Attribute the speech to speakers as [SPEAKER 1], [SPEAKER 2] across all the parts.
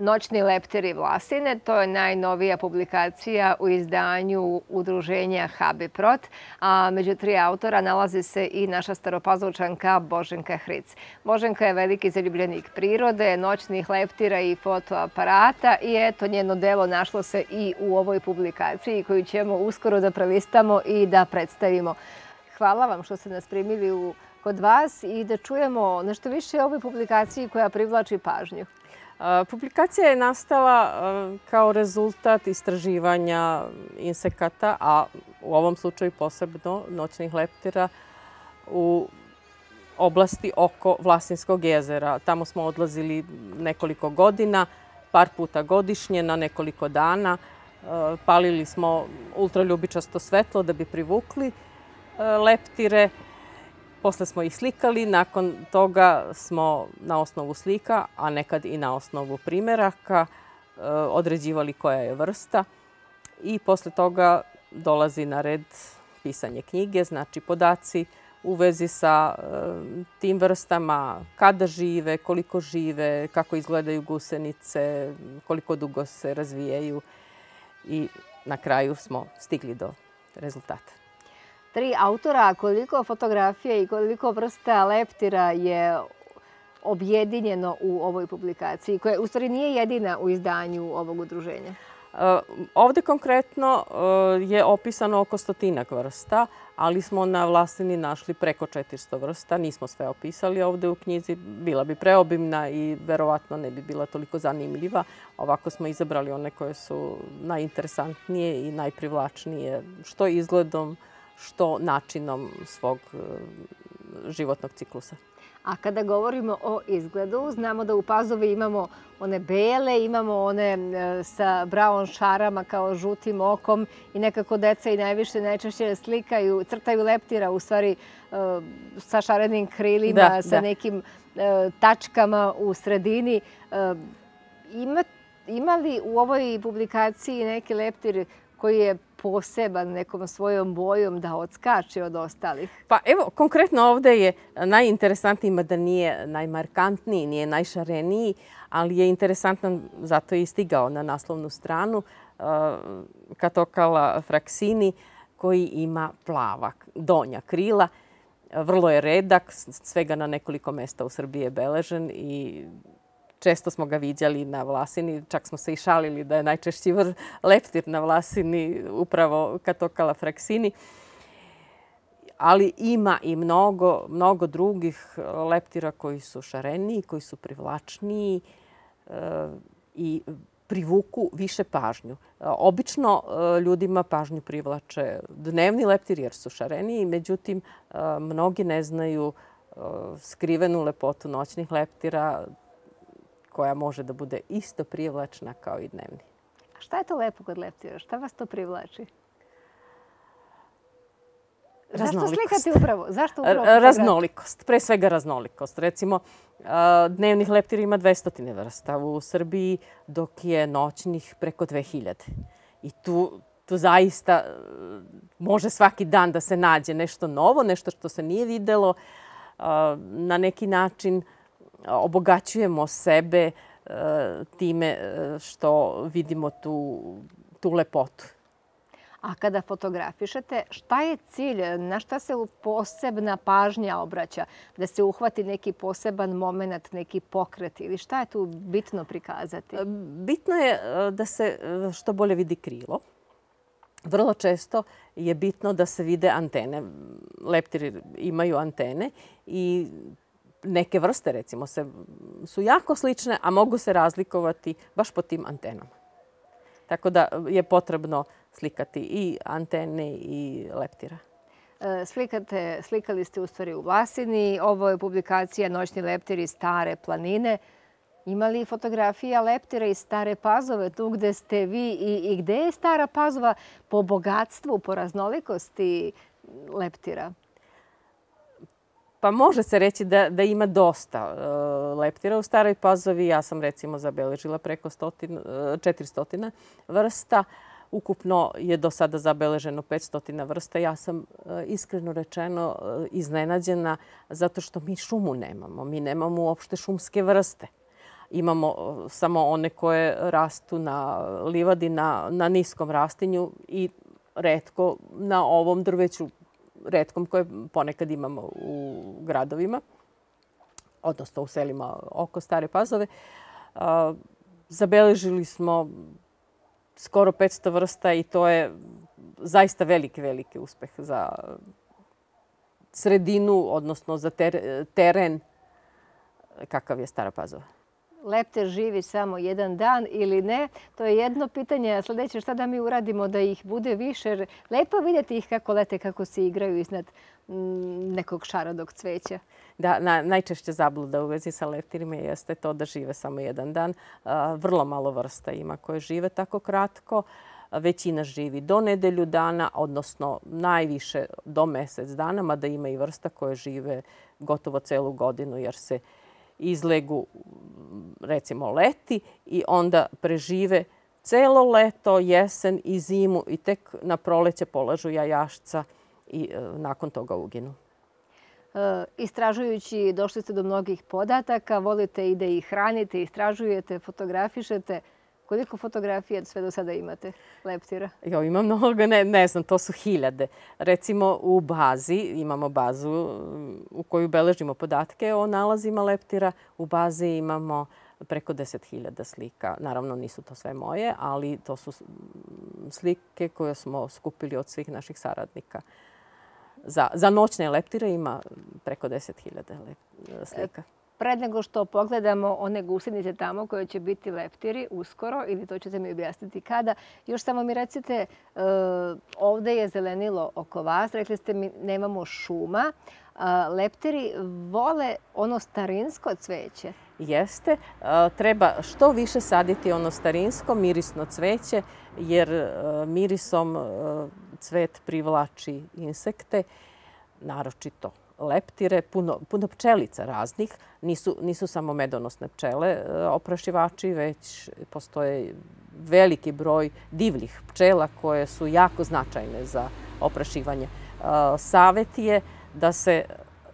[SPEAKER 1] Noćni leptiri Vlasine. To je najnovija publikacija u izdanju udruženja HB-Prot, a među 3 autora nalazi se i naša staropazovčanka Boženka Hric. Boženka je veliki zaljubljenik prirode, noćnih leptira i fotoaparata i eto, njeno delo našlo se i u ovoj publikaciji koju ćemo uskoro da prelistamo i da predstavimo. Hvala vam što ste nas primili kod vas i da čujemo nešto više o ovoj publikaciji koja privlači pažnju.
[SPEAKER 2] Publikacija je nastala kao rezultat istraživanja insekata, a u ovom slučaju posebno noćnih leptira u oblasti oko Vlasinskog jezera. Tamo smo odlazili nekoliko godina, par puta godišnje, na nekoliko dana. Palili smo ultraljubičasto svetlo da bi privukli leptire. Posle smo ih slikali, nakon toga smo na osnovu slika, a nekad i na osnovu primeraka, određivali koja je vrsta. I posle toga dolazi na red pisanje knjige, znači podaci u vezi sa tim vrstama, kada žive, koliko žive, kako izgledaju gusenice, koliko dugo se razvijaju i na kraju smo stigli do rezultata.
[SPEAKER 1] 3 autora, koliko fotografija i koliko vrsta leptira je objedinjeno u ovoj publikaciji, koja u stvari nije jedina u izdanju ovog udruženja?
[SPEAKER 2] Ovde konkretno je opisano oko 100 vrsta, ali smo na Vlasini našli preko 400 vrsta. Nismo sve opisali ovde u knjizi, bila bi preobimna i verovatno ne bi bila toliko zanimljiva. Ovako smo izabrali one koje su najinteresantnije i najprivlačnije, što izgledom, što načinom svog životnog ciklusa.
[SPEAKER 1] A kada govorimo o izgledu, znamo da u Pazovi imamo one bele, imamo one sa braon šarama kao žutim okom i nekako deca i najčešće slikaju, crtaju leptira u stvari sa šarenim krilima, sa nekim tačkama u sredini. Ima li u ovoj publikaciji neki leptir koji je poseban nekom svojom bojom da odskače od ostalih?
[SPEAKER 2] Pa evo, konkretno ovde je najinteresantniji, mada nije najmarkantniji, nije najšareniji, ali je interesantan, zato je i stigao na naslovnu stranu, Catocala fraxini, koji ima plava donja krila. Vrlo je redak, svega na nekoliko mesta u Srbiji je beležen i često smo ga viđali na Vlasini, čak smo se i šalili da je najčešći leptir na Vlasini upravo Catocala fraxini. Ali ima i mnogo drugih leptira koji su šareniji, koji su privlačniji i privuku više pažnju. Obično ljudima pažnju privlače dnevni leptiri jer su šareniji, međutim mnogi ne znaju skrivenu lepotu noćnih leptira, koja može da bude isto privlačna kao i dnevni.
[SPEAKER 1] A šta je to lepo kod leptira? Šta vas to privlači? Zašto slikate upravo? Zašto upravo?
[SPEAKER 2] Raznolikost. Pre svega raznolikost. Recimo, dnevnih leptira ima 200 vrsta u Srbiji, dok je noćnih preko 2000. I tu zaista može svaki dan da se nađe nešto novo, nešto što se nije videlo. Na neki način obogaćujemo sebe time što vidimo tu lepotu.
[SPEAKER 1] A kada fotografišete, šta je cilj? Na šta se posebna pažnja obraća? Da se uhvati neki poseban moment, neki pokret ili šta je tu bitno prikazati?
[SPEAKER 2] Bitno je da se što bolje vidi krilo. Vrlo često je bitno da se vide antene. Leptiri imaju antene i neke vrste, recimo, su jako slične, a mogu se razlikovati baš po tim antenama. Tako da je potrebno slikati i antene i leptira.
[SPEAKER 1] Slikali ste u stvari u Vlasini. Ovo je publikacija Noćni leptiri Stare planine. Ima li fotografija leptira iz Stare Pazove, tu gde ste vi i gde je Stara Pazova po bogatstvu, po raznolikosti leptira?
[SPEAKER 2] Pa može se reći da ima dosta leptira u Staroj Pazovi. Ja sam recimo zabeležila preko 400 vrsta. Ukupno je do sada zabeleženo 500 vrsta. Ja sam iskreno rečeno iznenađena zato što mi šumu nemamo. Mi nemamo uopšte šumske vrste. Imamo samo one koje rastu na livadi, na niskom rastinju i retko na ovom drveću, retkom koje ponekad imamo u gradovima, odnosno u selima oko Stare Pazove. Zabeležili smo skoro 500 vrsta i to je zaista veliki uspeh za sredinu, odnosno za teren kakav je Stara Pazova.
[SPEAKER 1] Leptir živi samo jedan dan ili ne? To je jedno pitanje. Sljedeće, šta da mi uradimo da ih bude više? Lepo vidjeti ih kako lete, kako se igraju iznad nekog šarodog cveća.
[SPEAKER 2] Da, najčešće zabluda u vezi sa leptirima jeste to da žive samo jedan dan. Vrlo malo vrsta ima koje žive tako kratko. Većina živi do nedelju dana, odnosno najviše do mjesec dana, mada ima i vrsta koje žive gotovo celu godinu jer se izlegu, recimo, leti i onda prežive celo leto, jesen i zimu i tek na proleće polažu jajašca i nakon toga uginu.
[SPEAKER 1] Istražujući, došli ste do mnogih podataka, volite i da ih hranite, istražujete, fotografišete. Koliko fotografija sve do sada imate leptira?
[SPEAKER 2] Ima mnogo, ne znam, to su hiljade. Recimo u bazi, imamo bazu u koju beležimo podatke o nalazima leptira. U bazi imamo preko 10.000 slika. Naravno, nisu to sve moje, ali to su slike koje smo skupili od svih naših saradnika. Za noćne leptire ima preko 10.000 slika.
[SPEAKER 1] Pred nego što pogledamo one gusenice tamo koje će biti leptiri uskoro, ili to ćete mi objasniti kada, još samo mi recite, ovdje je zelenilo oko vas, rekli ste mi nemamo šuma. Leptiri vole ono starinsko cveće.
[SPEAKER 2] Jeste. Treba što više saditi ono starinsko, mirisno cveće, jer mirisom cvet privlači insekte, naročito leptire, puno pčelica raznih. Nisu samo medonosne pčele oprašivači, već postoje veliki broj divljih pčela koje su jako značajne za oprašivanje. Savet je da se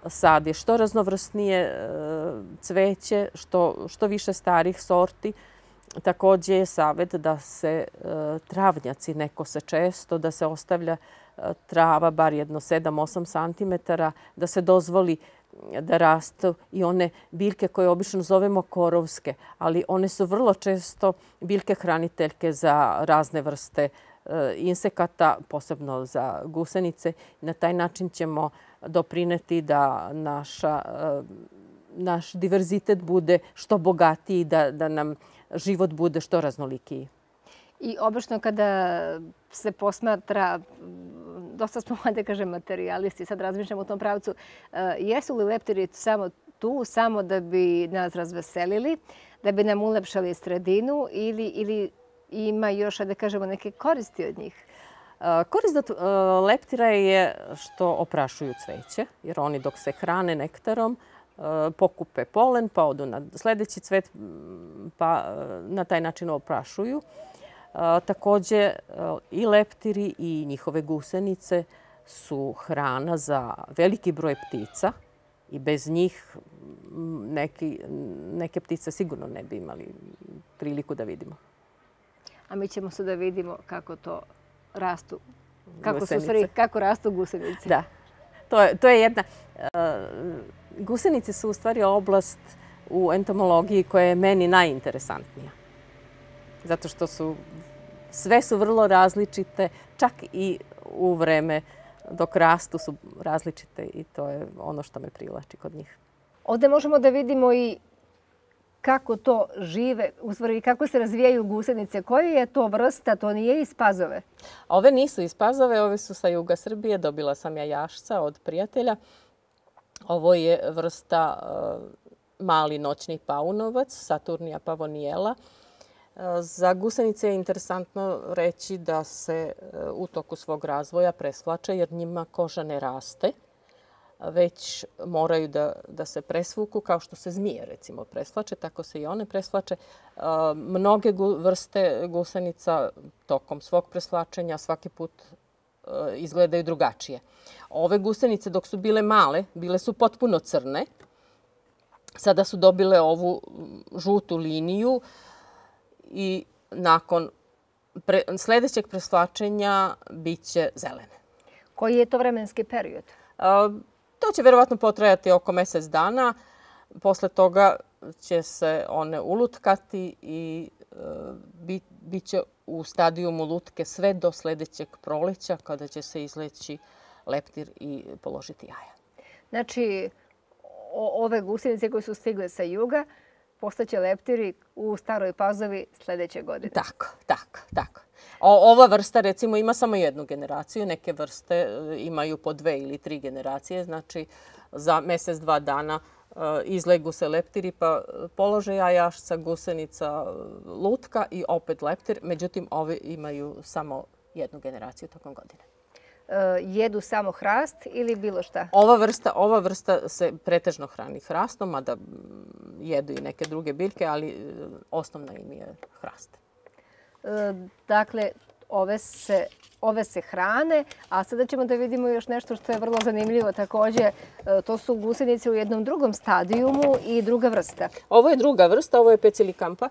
[SPEAKER 2] sadi što raznovrsnije cveće, što više starih sorti. Također je savet da se travnjaci ne kose često, da se ostavlja trava bar jedno 7-8 cm, da se dozvoli da rastu i one biljke koje obično zovemo korovske, ali one su vrlo često biljke hraniteljke za razne vrste insekata, posebno za gusenice. Na taj način ćemo doprineti da naš diverzitet bude što bogatiji, da nam život bude što raznolikiji.
[SPEAKER 1] I obično kada se posmatra, dosta smo, da kažem, materijalisti, sad razmišljamo u tom pravcu, jesu li leptiri samo tu, samo da bi nas razveselili, da bi nam ulepšali sredinu ili ima još, da kažemo, neke koristi od njih?
[SPEAKER 2] Korist od leptira je što oprašuju cveće, jer oni dok se hrane nektarom, pokupe polen, pa odu na sljedeći cvet, pa na taj način oprašuju. Također i leptiri i njihove gusenice su hrana za veliki broj ptica i bez njih neke ptice sigurno ne bi imali priliku da vidimo.
[SPEAKER 1] A mi ćemo sada vidimo kako to rastu, kako rastu gusenice.
[SPEAKER 2] Da, to je jedna... Gusenice su u stvari oblast u entomologiji koja je meni najinteresantnija. Zato što sve su vrlo različite, čak i u vreme dok rastu su različite i to je ono što me privlači kod njih.
[SPEAKER 1] Ovdje možemo da vidimo i kako to žive, u stvari kako se razvijaju gusenice. Koja je to vrsta? To nije iz Pazove?
[SPEAKER 2] Ove nisu iz Pazove, ove su sa juga Srbije. Dobila sam jajašca od prijatelja. Ovo je vrsta mali noćni paunovac, Saturnia pavoniela. Za gusenice je interesantno reći da se u toku svog razvoja presvlače jer njima koža ne raste, već moraju da se presvuku kao što se zmije recimo presvlače, tako se i one presvlače. Mnoge vrste gusenica tokom svog presvlačenja svaki put izgledaju drugačije. Ove gusenice dok su bile male, bile su potpuno crne, Sada su dobile ovu žutu liniju i nakon sljedećeg preslačenja bit će zelene.
[SPEAKER 1] Koji je to vremenski period?
[SPEAKER 2] To će verovatno potrajati oko mjesec dana. Posle toga će se one ulutkati i bit će u stadijumu lutke sve do sljedećeg proleća kada će se izleći leptir i položiti jaja.
[SPEAKER 1] Znači, ove gusenice koje su stigle sa juga postaće leptiri u Staroj Pazovi sljedeće godine.
[SPEAKER 2] Tako. Ova vrsta recimo ima samo jednu generaciju, neke vrste imaju po 2 ili 3 generacije, znači za mjesec, 2 dana izlegu se leptiri pa polože jajašca, gusenica, lutka i opet leptir. Međutim, ovi imaju samo jednu generaciju tokom godine.
[SPEAKER 1] Jedu samo hrast ili bilo šta?
[SPEAKER 2] Ova vrsta se pretežno hrani hrastom, mada jedu i neke druge biljke, ali osnovna im je hrast.
[SPEAKER 1] Dakle, ove se hrane, a sada ćemo da vidimo još nešto što je vrlo zanimljivo također. To su gusenice u jednom drugom stadijumu i druga vrsta.
[SPEAKER 2] Ovo je druga vrsta, ovo je Pecilikampa.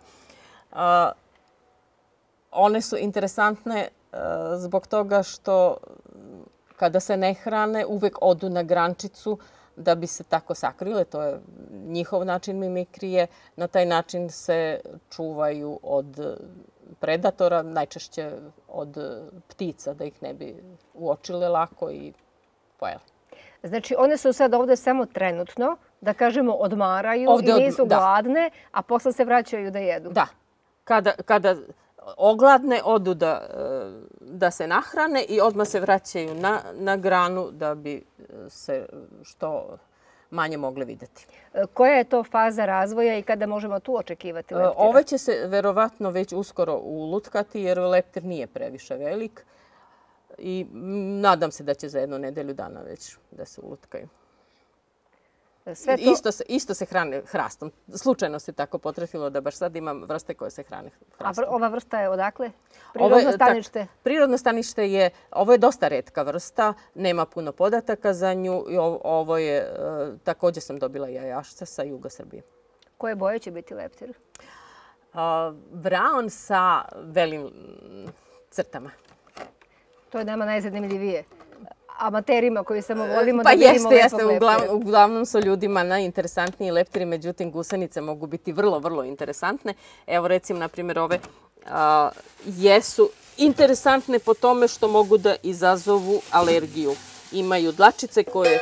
[SPEAKER 2] One su interesantne zbog toga što kada se ne hrane uvek odu na grančicu da bi se tako sakrile. To je njihov način mimikrije. Na taj način se čuvaju od predatora, najčešće od ptica, da ih ne bi uočile lako i pojele.
[SPEAKER 1] Znači, one su sad ovdje samo trenutno, da kažemo, odmaraju i nisu gladne, a posle se vraćaju da jedu.
[SPEAKER 2] Da. Kada ogladne, odu da se nahrane i odmah se vraćaju na granu da bi se što manje mogle vidjeti.
[SPEAKER 1] Koja je to faza razvoja i kada možemo tu očekivati leptira?
[SPEAKER 2] Ove će se verovatno već uskoro ulutkati jer leptir nije previše velik i nadam se da će za 1 nedelju dana već da se ulutkaju. Isto se hrane hrastom. Slučajno se tako potrefilo da baš sad imam vrste koje se hrane hrastom.
[SPEAKER 1] A ova vrsta je odakle? Prirodno stanište?
[SPEAKER 2] Prirodno stanište je, ovo je dosta retka vrsta, nema puno podataka za nju i ovo je, također sam dobila jajašca sa juga Srbije.
[SPEAKER 1] Koje boje će biti leptir?
[SPEAKER 2] Braun sa belim crtama.
[SPEAKER 1] To je nama najzanimljivije. Amaterima koji samo volimo da vidimo lepog leptira.
[SPEAKER 2] Uglavnom su ljudima najinteresantniji leptiri, međutim gusenice mogu biti vrlo, vrlo interesantne. Evo recimo, na primjer, ove jesu interesantne po tome što mogu da izazovu alergiju. Imaju dlačice koje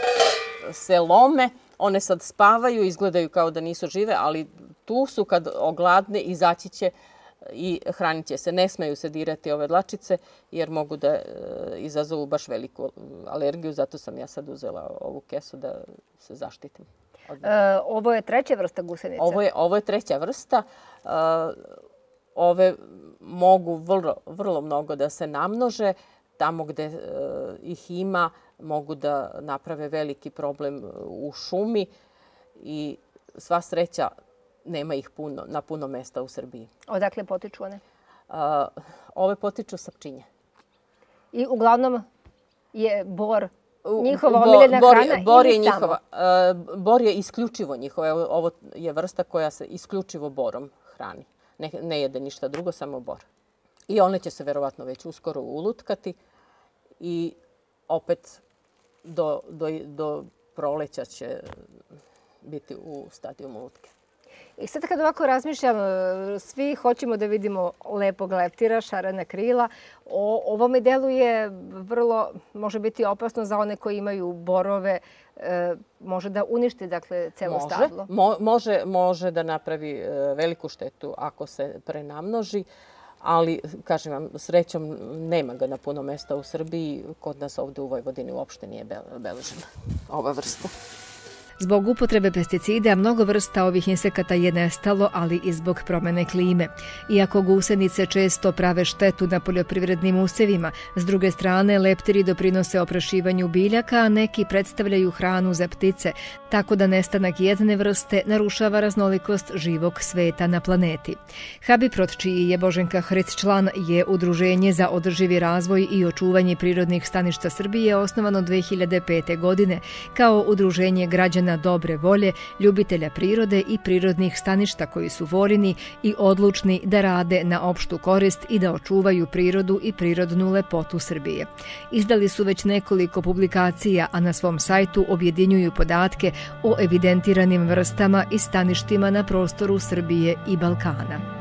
[SPEAKER 2] se lome, one sad spavaju, izgledaju kao da nisu žive, ali tu su kad ogladne, izaći će i hranit će se. Ne smeju se dirati ove dlačice jer mogu da izazovu baš veliku alergiju. Zato sam ja sad uzela ovu kesu da se zaštitim.
[SPEAKER 1] Ovo je treća vrsta gusenica?
[SPEAKER 2] Ovo je treća vrsta. Ove mogu vrlo mnogo da se namnože. Tamo gde ih ima mogu da naprave veliki problem u šumi i sva sreća nema ih na puno mesta u Srbiji.
[SPEAKER 1] Odakle potiču one?
[SPEAKER 2] Ove potiču sa Pčinje.
[SPEAKER 1] I uglavnom je bor njihova omiljena hrana ili samo?
[SPEAKER 2] Bor je isključivo njihova. Ovo je vrsta koja se isključivo borom hrani. Ne jede ništa drugo, samo bor. I one će se verovatno već uskoro ulutkati i opet do proleća će biti u stadijumu lutke.
[SPEAKER 1] I sad kad ovako razmišljam, svi hoćemo da vidimo lepog leptira, šarena krila. Ovo mi deluje vrlo, može biti opasno za one koji imaju borove, može da uništi dakle celo stablo.
[SPEAKER 2] Može da napravi veliku štetu ako se prenamnoži, ali kažem vam, srećom nema ga na puno mesta u Srbiji. Kod nas ovdje u Vojvodini uopšte nije beležena ova vrsta.
[SPEAKER 1] Zbog upotrebe pesticida mnogo vrsta ovih insekata je nestalo, ali i zbog promene klime. Iako gusenice često prave štetu na poljoprivrednim usevima, s druge strane leptiri doprinose oprašivanju biljaka, a neki predstavljaju hranu za ptice, tako da nestanak jedne vrste narušava raznolikost živog sveta na planeti. Habiprot, čiji je Boženka Hric član, je Udruženje za održivi razvoj i očuvanje prirodnih staništa Srbije, osnovano 2005. godine kao udruženje građana građana dobre volje, ljubitelja prirode i prirodnih staništa koji su voljni i odlučni da rade na opštu korist i da očuvaju prirodu i prirodnu lepotu Srbije. Izdali su već nekoliko publikacija, a na svom sajtu objedinjuju podatke o evidentiranim vrstama i staništima na prostoru Srbije i Balkana.